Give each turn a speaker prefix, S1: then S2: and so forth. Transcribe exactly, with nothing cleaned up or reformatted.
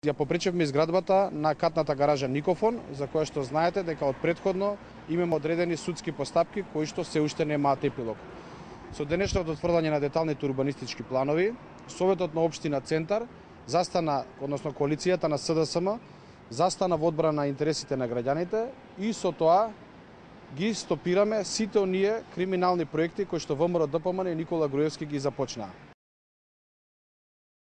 S1: Ја попречевме изградбата на катната гаража Никофон, за која што знаете дека од претходно имаме одредени судски постапки кои што се уште немаат епилог. Со денешното утврдање на деталните урбанистички планови, Советот на општина Центар застана, односно коалицијата на С Д С М, застана во одбрана на интересите на граѓаните и со тоа ги стопираме сите оние криминални проекти кои што ВМРО Д П М Н и Никола Груевски ги започнаа.